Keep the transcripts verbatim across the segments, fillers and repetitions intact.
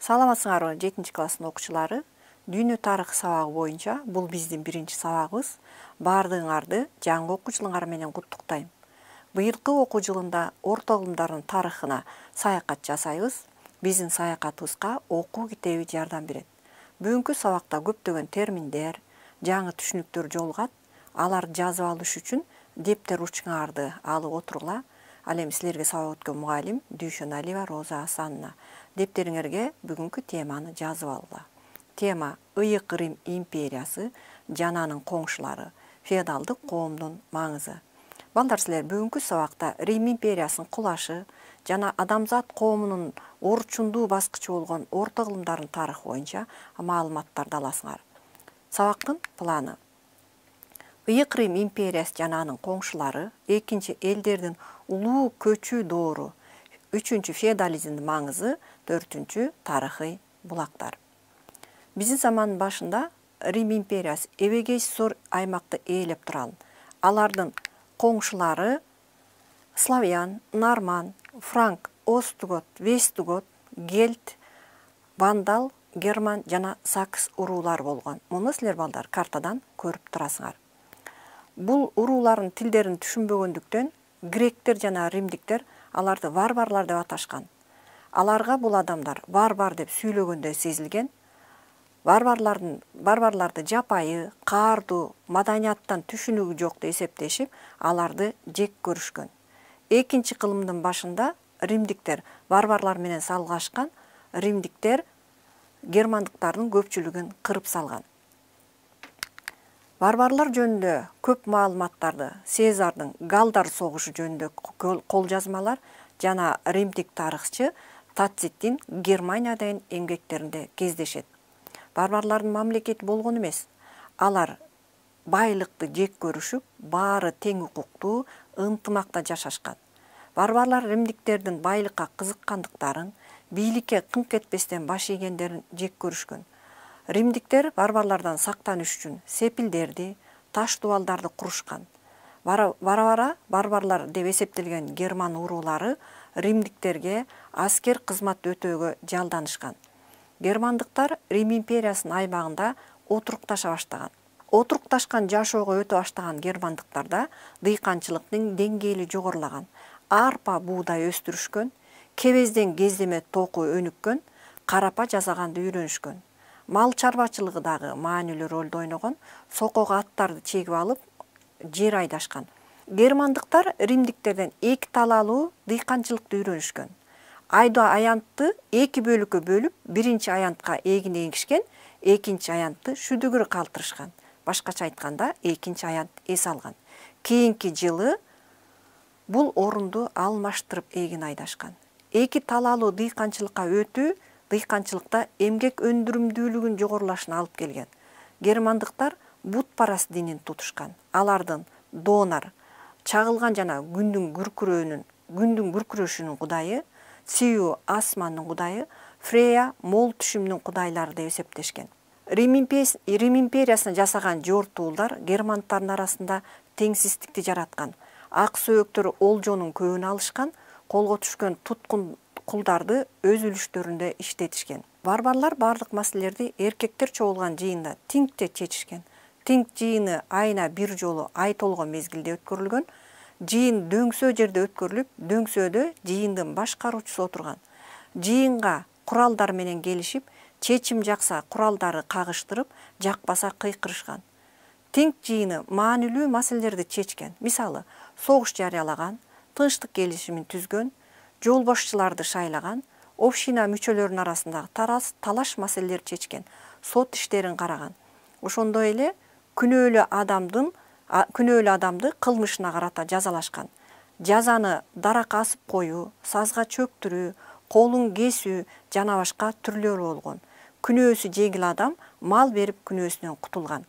Саламатсыңарбы жетинчи класстын окуучулары? Дүйнө тарыхы сабагы боюнча бул биздин биринчи сабагыбыз. Баардыгыңарды жаңы окуу жылыңар менен куттуктайм. Быйылкы окуу жылында орто илимдардын тарыхына саякат жасайбыз. Биздин саякатыбызга окуу китеби жардам берет. Бүгүнкү сабакта көптөгөн терминдер, жаңы түшүнүктөр жолугат. Аларды жазып алыш үчүн дептер ручкаңарды алып отургула. Ал эми силерге сабак өткөн мугалим Дүйшөналиева Роза Асановна. Дептериңерге бүгүнкү теманы жазып алгыла. Тема Ыйык Рим империясы жана анын коңшулары, феодалдык коомдун маңызы. Балдар, силер бүгүнкү сабакта Рим империясынын кулашы жана адамзат коомунун орчундуу баскычы болгон орто кылымдардын тарыхы боюнча маалыматтарды аласыңар. Сабактын планы: Ыйык Рим империясы жана анын коңшулары, экинчи элдердин улуу көчүү доору, үчүнчү феодализмдин маңызы, төртүнчү тарыхый булактар. Биздин замандын башында Рим империясы эбегейси зор аймакты ээлеп турган. Алардын коңшулары славян, норман, франк, остугот, вестугот, гельт, вандал, герман жана сакс уруулары болгон. Муну силер балдар картадан көрүп турасыңар. Бул уруулардын тилдерин түшүнбөгөндүктөн гректер жана римдиктер аларды варварлар деп аташкан. Аларга бул адамдар варвар деп сүйлөгөндө сезилген. Варварлардын варварларды жапайы, каардуу, маданияттан түшүнүгү жок деп эсептешип, аларды жек көрүшкөн. Экинчи кылымдын башында римдиктер варварлар менен салгашкан. Римдиктер германдыктардын көпчүлүгүн кырып салган. Варварлар жөнүндө көп маалыматтарды Сезардын Галдар согушу жөнүндө колжазмалар жана римдик тарыхчы Тациттин Германиядагы эмгектеринде кездешет. Варварлардын мамлекети болгон эмес. Алар байлыкты жек көрүшүп, баары тең укуктуу, ынтымакта жашашкан. Варварлар римдиктердин байлыкка кызыккандыктарын, бийликке кыңк этпестен баш ийгендерин жек көрүшкөн. Римдиктер варварлардан сактаныш үчүн сепилдерди, таш дубалдарды курушкан. Бара-бара варварлар деп эсептелген герман уруулары римдиктерге аскер кызмат өтөөгө жалданышкан. Германдыктар Рим империясынын аймагында отурукташа баштаган. Отурукташкан жашоого өтө баштаган германдыктарда дыйканчылыктын деңгээли жогорулаган. Арпа, буудай өстүрүшкөн, кебезден кездеме току өнүккөн, карапа жасаганды үйрөнүшкөн. Мал чарбачылыгы дагы маанилүү ролду ойногон, сокого аттарды чегип алып, жер айдашкан. Германдыктар римдиктерден эки талаалуу дыйканчылыкты үйрөнүшкөн. Айдоо аянтты эки бөлүккө бөлүп, биринчи аянтка эгин эгишкен, экинчи аянтты шүдүгүр калтырышкан. Башкача айтканда, экинчи аянт эс алган. Кийинки жылы бул орунду алмаштырып эгин айдашкан. Эки талаалуу дыйканчылыкка өтүү дыйканчылыкта эмгек өндүрүмдүүлүгүн жогорулашына алып келген. Германдыктар бутпараст динин тутушкан. Алардын Донар, чагылган жана күндүн күркүрөөнүн, күндүн күркүрөшүнүн кудайы, Сиу асмандын кудайы, Фрея мол түшүмдүн кудайлары деп эсептешкен. Рим империясына жасаган жортуулдар германдтардын арасында теңсиздикти жараткан. Ак сөөктөр олжонун көбүн алышкан, колго түшкөн туткун кулдарды өз үлүштөрүндө иштетишкен. Варварлар бардык маселелерди эркектер чогулган жыйында тингте чечишкен. Тинг жыйыны айына бир жолу ай толгон мезгилде өткөрүлгөн. Жыйын дөңсөө жерде өткөрүлүп, дөңсөөдө жыйындын башкаруучусу отурган. Жыйынга куралдар менен келишип, чечим жакса куралдары кагыштырып, жакпаса кыйкырышкан. Тинг жыйыны маанилүү маселелерди чечкен. Мисалы, согуш жарыялаган, тынчтык келишимин түзгөн, жол бошчуларды шайлаган, община мүчөлөрүнүн арасындагы тарас талаш маселелерди чечкен, сот иштерин караган. Ошондой эле күнөөлүү адамдын күнөөлүү адамды кылмышына карата жазалашкан. Жазаны даракка асып коюу, сазга чөктүрүү, колун кесүү жана башка түрлөрү болгон. Күнөөсү жеңил адам мал берип күнөөсүнөн кутулган.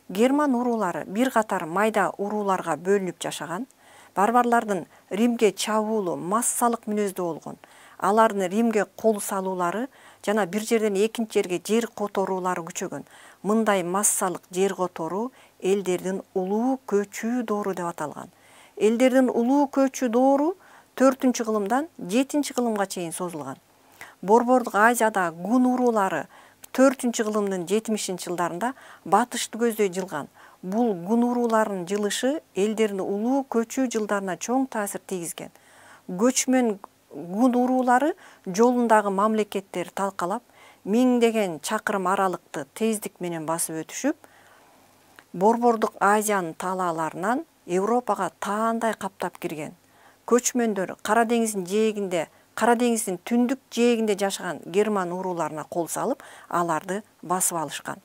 Герман уруулары бир катар майда урууларга бөлүнүп жашаган. Варварлардын Римге чабуулу, массалык мүнөздүү болгон. Алардын Римге кол салуулары жана бир жерден экинчи жерге жер которуулары күчөгөн. Мындай массалык жер которуу элдердин улуу көчүү доору деп аталган. Элдердин улуу көчүү доору төртүнчү кылымдан жетинчи кылымга чейин созулган. Борбордук Азияда гун уруулары төртүнчү кылымдын жетимишинчи жылдарында батышты көздөй жылган. Бул гун урууларынын жылышы элдердин улуу көчүү жылдарына чоң таасир тийгизген. Көчмөн гун уруулары жолундагы мамлекеттерди талкалап, миңдеген чакырым аралыкты тездик менен басып өтүшүп, Борбордук Азиянын талааларынан Европага таандай каптап кирген. Көчмөндөр Кара деңиздин жээгинде, Кара деңиздин түндүк жээгинде жашаган герман урууларына кол салып, аларды басып алышкан.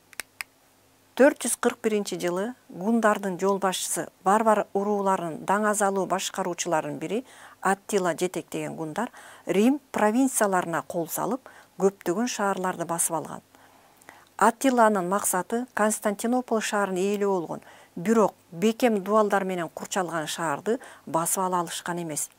төрт жүз кырк биринчи жылы гундардын жол башчысы барбар урууларынын даңазалуу башкаруучуларынын бири Аттила жетектеген гундар Рим провинцияларына кол салып, көптөгөн шаарларды басып алган. Аттиланын максаты Константинополь шаарын ээлөө болгон, бирок бекем дубалдар менен курчалган шаарды басып ала алышкан эмес.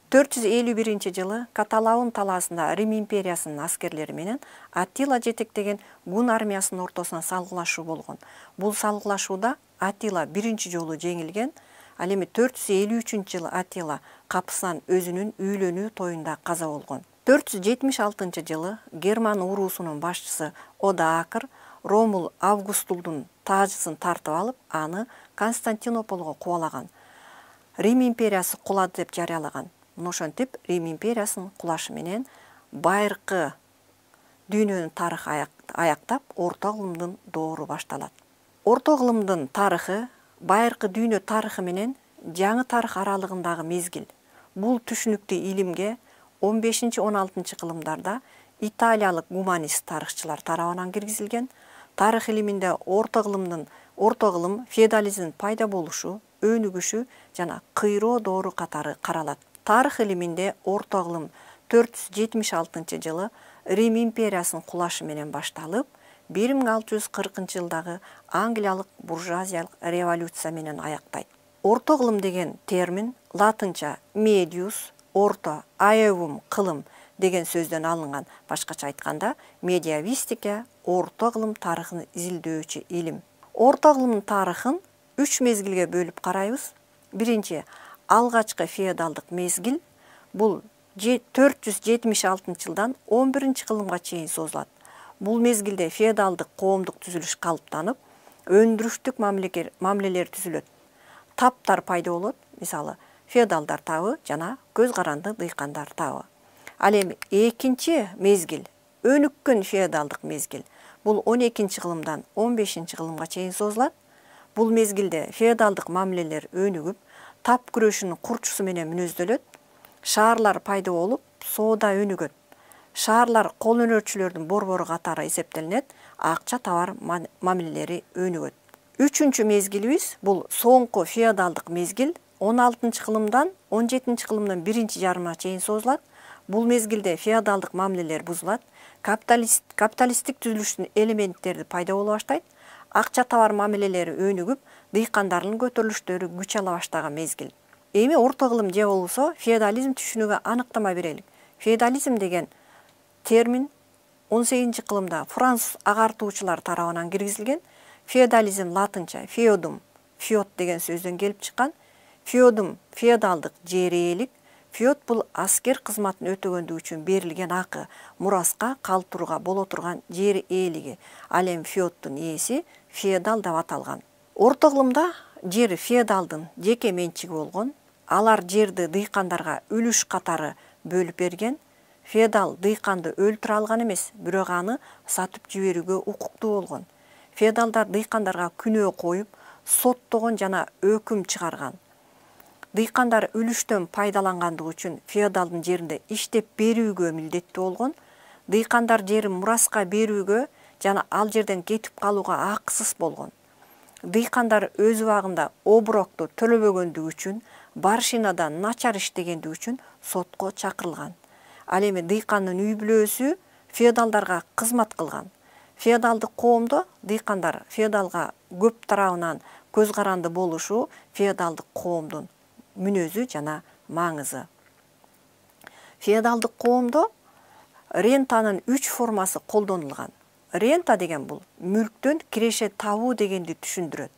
төрт жүз элүү биринчи жылы Каталаун талаасында Рим империясынын аскерлери менен Аттила жетектеген гун армиясынын ортосуна салгылашуу болгон. Бул салгылашууда Аттила биринчи жолу жеңилген. Ал эми төрт жүз элүү үчүнчү жылы Аттила капысынан өзүнүн үйлөнүү тоюнда каза болгон. төрт жүз жетимиш алтынчы жылы герман уруусунун башчысы Одаакр Ромул Августулдун таажысын тартып алып, аны Константинополго кубалаган. Рим империясы кулады деп жарыялаган. Мына ошентип Рим империясынын кулашы менен байыркы дүйнөнүн тарыхы аяктап, орто кылымдын доору башталат. Орто кылымдын тарыхы байыркы дүйнө тарыхы менен жаңы тарых аралыгындагы мезгил. Бул түшүнүктүү илимге он бешинчи он алтынчы кылымдарда италиялык гуманист тарыхчылар тарабынан киргизилген. Тарых илиминде орто кылымдын орто кылым, феодализмдин пайда болушу, өнүгүшү жана кыйроо доору катары каралат. Тарых илиминде орто кылым төрт жүз жетимиш алтынчы жылы Рим империясынын кулашы менен башталып, бир миң алты жүз кыркынчы жылдагы англиялык буржуазиялык революция менен аяктайт. Орто кылым деген термин латынча medius, орто, aevum кылым деген сөздөн алынган. Башкача айтканда, медиавистика орто кылым тарыхын изилдөөчү илим. Орто кылымдын тарыхын үч мезгилге бөлүп карайбыз. Биринчи алгачкы феодалдык мезгил. Бул төрт жүз жетимиш алтынчы жылдан он биринчи кылымга чейин созулат. Бул мезгилде феодалдык коомдук түзүлүш калыптанып, өндүрүштүк мамилелер түзүлөт. Таптар пайда болот, мисалы, феодалдар табы жана көз каранды дыйкандар табы. Ал эми экинчи мезгил, өнүккөн феодалдык мезгил. Бул он экинчи кылымдан он бешинчи кылымга чейин созулат. Бул мезгилде феодалдык мамилелер өнүгүп, тап күрөшүнүн курчусу менен мүнөздөлөт. Шаарлар пайда болуп, соода өнүгөт. Шаарлар кол өнөрчүлөрдүн борбору катары эсептелинет, акча товар мамилелери өнүгөт. Үчүнчү мезгилибиз бул соңку феодалдык мезгил он алтынчы кылымдан он жетинчи кылымдын биринчи жарымына чейин созулат. Бул мезгилде феодалдык мамилелер бузулат, капиталист капиталисттик түзүлүштүн элементтери пайда боло баштайт, акча товар мамилелери өнүгүп, дыйкандардын көтөрүлүштөрү күч ала баштаган мезгил. Эми орто кылым же болсо феодализм түшүнүгү аныктама берели. Феодализм деген термин он сегизинчи кылымда француз агартуучулар тарабынан киргизилген. Феодализм латынча feodum, feod деген сөздөн келип чыккан. Feodum феодалдык жер ээлик. Feod бул аскер кызматын өтөгөндүгү үчүн берилген акы, мураска калтырууга боло турган жер ээлиги. Ал эми feodдун ээси феодал деп аталган. Орто кылымда жер феодалдын жеке менчиги болгон. Алар жерди дыйкандарга үлүш катары бөлүп берген. Феодал дыйканды өлтүрө алган эмес, бирок аны сатып жиберүүгө укуктуу болгон. Феодалдар дыйкандарга күнөө коюп, соттогон жана өкүм чыгарган. Дыйкандар үлүштөн пайдалангандыгы үчүн феодалдын жеринде иштеп берүүгө милдеттүү болгон. Дыйкандар жерин мураска берүүгө жана ал жерден кетип калууга акысыз болгон. Дыйкандар өз убагында оброкту төлөбөгөндүгү үчүн, баршинада начар иштегендиги үчүн сотко чакырылган. Ал эми дыйкандын үй бүлөсү феодалдарга кызмат кылган. Феодалдык коомдо дыйкандар феодалга көп тарабынан көз каранды болушу феодалдык коомдун мүнөзү жана маңызы. Феодалдык коомдо рентанын үч формасы колдонулган. Рента деген бул мүлктөн киреше табуу дегенди түшүндүрөт.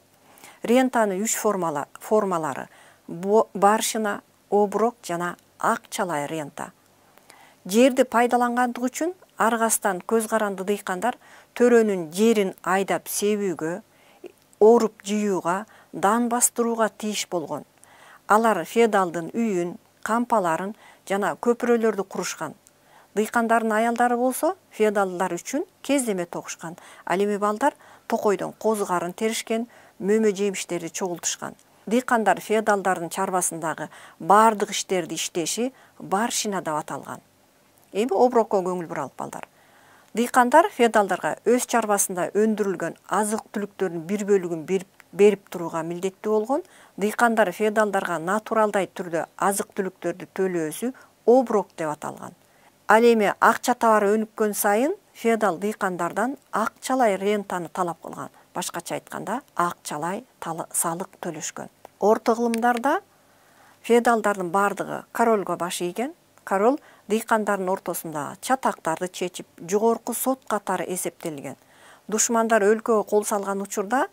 Рентанын үч формалары баршина, оброк жана акчалай рента. Жерди пайдалангандыгы үчүн аргастан көз каранды дыйкандар төрөнүн жерин айдап себүүгө, оруп жыюуга, дан бастырууга тийиш болгон. Алар феодалдын үйүн, кампаларын жана көпүрөлөрдү курушкан. Дыйкандардын аялдары болсо феодалдар үчүн кездеме тогушкан. Ал эми балдар токойдон козу-карын теришкен, мөмө жемиштерди чогултушкан. Дыйкандар феодалдардын чарбасындагы бардык иштерди иштеши барщина деп аталган. Эми оброкко көңүл буралык балдар. Дыйкандар феодалдарга өз чарбасында өндүрүлгөн азык-түлүктөрдүн бир бөлүгүн берип турууга милдеттүү болгон. Дыйкандар феодалдарга натуралдай түрдө азык-түлүктөрдү төлөөсү оброк деп аталган. Ал эми акча табары өнүккөн сайын феодал дыйкандардан акчалай рентаны талап кылган. Башкача айтканда, акчалай салык төлөшкөн. Орто кылымдарда феодалдардын бардыгы королго баш ийген. Король дыйкандардын ортосунда чатактарды чечип, жогорку сот катары эсептелген. Душмандар өлкөгө кол салган учурда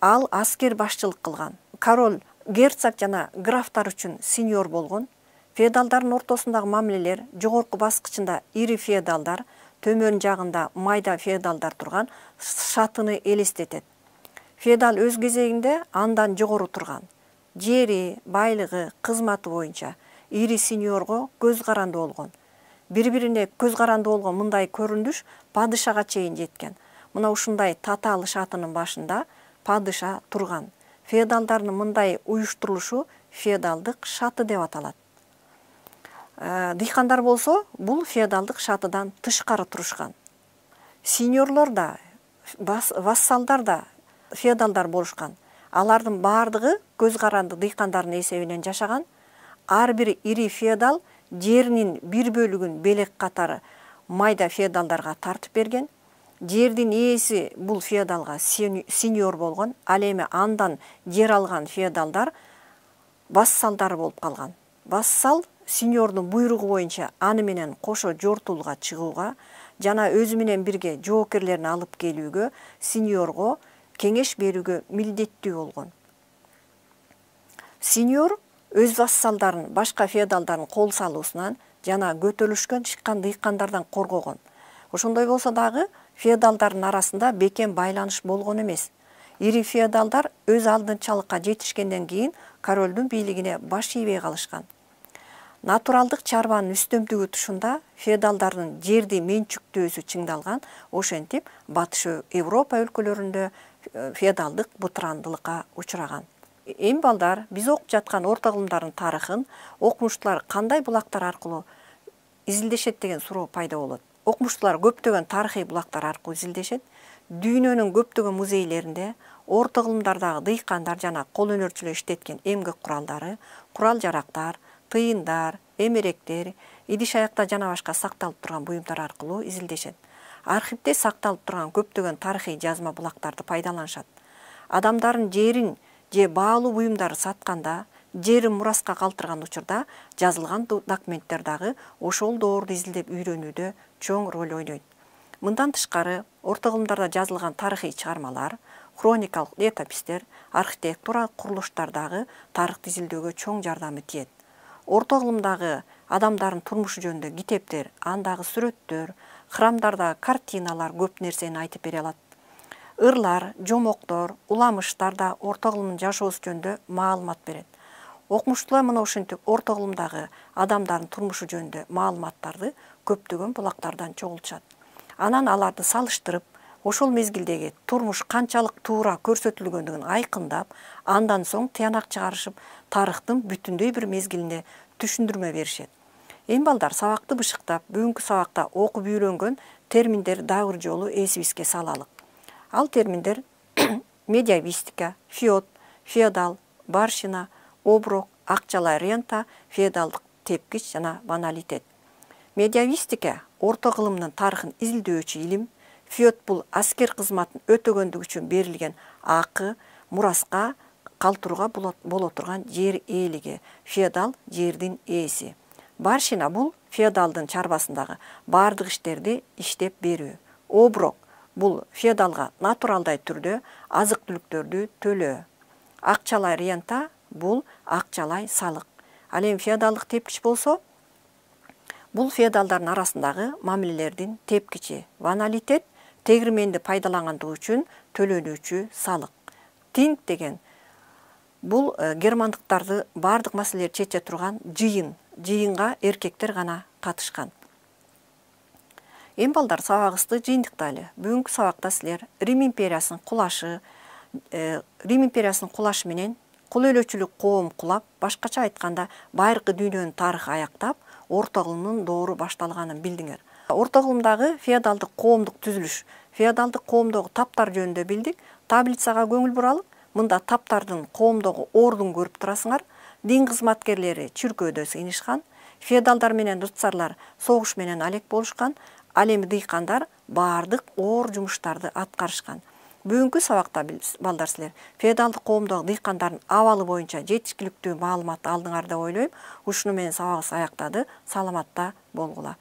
ал аскер башчылык кылган. Король герцог жана графтар үчүн сеньор болгон. Феодалдардын ортосундагы мамилелер жогорку баскычында ири феодалдар, төмөн жагында майда феодалдар турган шатыны элестетет. Феодал өз кезегинде андан жогору турган. Жери, байлыгы, кызматы боюнча ири сеньорго көз каранды болгон. Бири-бирине көз каранды болгон мындай көрүнүш падышага чейин жеткен. Мына ушундай татаал шатынын башында падыша турган. Феодалдардын мындай уюштурулушу феодалдык шаты деп аталат. Дыйкандар болсо, бул феодалдык шатыдан тышкары турушкан. Сеньорлор да, вассалдар да феодалдар болушкан. Алардын бардыгы көз каранды дыйкандардын эсебинен жашаган. Ар бир ири феодал жеринин бир бөлүгүн белек катары майда феодалдарга тартып берген. Жердин ээси бул феодалга сеньор болгон. Ал эми андан жер алган феодалдар вассалдары болуп калган. Вассал сеньордун буйругу боюнча аны менен кошо жортуулга чыгууга жана өзү менен бирге жоокерлерин алып келүүгө, сеньорго кеңеш берүүгө милдеттүү болгон. Сеньор өз вассалдарын башка феодалдардын кол салуусунан жана көтөрүлүшкөн чыккан дыйкандардан коргогон. Ошондой болсо дагы феодалдардын арасында бекем байланыш болгон эмес. Ири феодалдар өз алдынчалыкка жетишкенден кийин королдун бийлигине баш ийбей калышкан. Натуралдык чарбанын үстөмдүгү тушунда феодалдардын жерди менчүктөөсү чыңдалган. Ошентип Батыш Европа өлкөлөрүндө феодалдык бытырандылыкка учураган. Эми балдар, биз окуп жаткан орто кылымдардын тарыхын окумуштуулар кандай булактар аркылуу изилдешет деген суроо пайда болот. Окумуштуулар көптөгөн тарыхый булактар аркылуу изилдешет. Дүйнөнүн көптөгөн музейлеринде орто кылымдардагы дыйкандар жана кол өнөрчүлөр иштеткен эмгек куралдары, курал-жарактар, тыйындар, эмеректер, идиш-аякта жана башка сакталып турган буюмдар аркылуу изилдешет. Архивде сакталып турган көптөгөн тарыхый жазма булактарды пайдаланышат. Адамдардын жерин же баалуу буюмдарды сатканда, жерин мураска калтырган учурда жазылган документтер дагы ошол доорду изилдеп үйрөнүүдө чоң роль ойнойт. Мындан тышкары, орто кылымдарда жазылган тарыхый чыгармалар, хроникалык летопистер, архитектуралык курулуштар дагы тарыхты изилдөөгө чоң жардамы тиет. Орто кылымдагы адамдардын турмушу жөнүндө китептер, андагы сүрөттөр, храмдардагы картиналар көп нерсени айтып бере алат. Ырлар, жомоктор, уламыштар да орто кылымдын жашоосу жөнүндө маалымат берет. Окумуштуулар мына ушинтип орто кылымдагы адамдардын турмушу жөнүндө маалыматтарды көптөгөн булактардан чогултушат. Анан аларды салыштырып, ошол мезгилдеги турмуш канчалык туура көрсөтүлгөндүгүн айкындап, андан соң тыянак чыгарышып, тарыхтын бүтүндөй бир мезгилине түшүндүрмө беришет. Эми балдар, сабакты бышыктап, бүгүнкү сабакта окуп үйрөнгөн терминдер дагы бир жолу эсибизге салалык. Ал терминдер медиавистика, феод, феодал, барщина, оброк, акчалай рента, феодалдык тепкич жана баналитет. Медиавистика орто кылымдын тарыхын изилдөөчү илим. Феод бул аскер кызматын өтөгөндүгү үчүн берилген акы, мураска калтырууга боло турган жер ээлиги. Феодал жердин ээси. Барщина бул феодалдын чарбасындагы бардык иштерди иштеп берүү. Оброк бул феодалга натуралдай түрдө азык-түлүктөрдү төлөө. Акчалай рента бул акчалай салык. Ал эми феодалдык тепкич болсо, Бул феодалдардын арасындагы мамилелердин тепкичи. Ваналитет тегирменди пайдалангандыгы үчүн төлөнүүчү салык. Тинг деген бул германдыктарды бардык маселелерди чече турган жыйын. Жыйынга эркектер гана катышкан. Эми балдар, сабагыбызды жыйынтыктайлы. Бүгүнкү сабакта силер Рим империясынын кулашы, Рим империясынын кулашы менен кул өлөчүлүк коом кулап, башкача айтканда байыркы дүйнөнүн тарыхы аяктап, орто кылымдын доору башталганын билдиңер. Орто кылымдагы феодалдык коомдук түзүлүш, феодалдык коомдогу таптар жөнүндө билдик. Таблицага көңүл буралык. Мында таптардын коомдогу ордун көрүп турасыңар. Дин кызматкерлери чүркөөдө сыйынышкан. Феодалдар менен рыцарлар согуш менен алек болушкан. Ал эми дыйкандар бардык оор жумуштарды аткарышкан. Бүгүнкү сабакта балдар, силер феодалдык коомдогу дыйкандардын абалы боюнча жетишкиликтүү маалымат алдыңар деп ойлойм. Ушуну менен сабагыбыз аяктады. Саламатта болгула.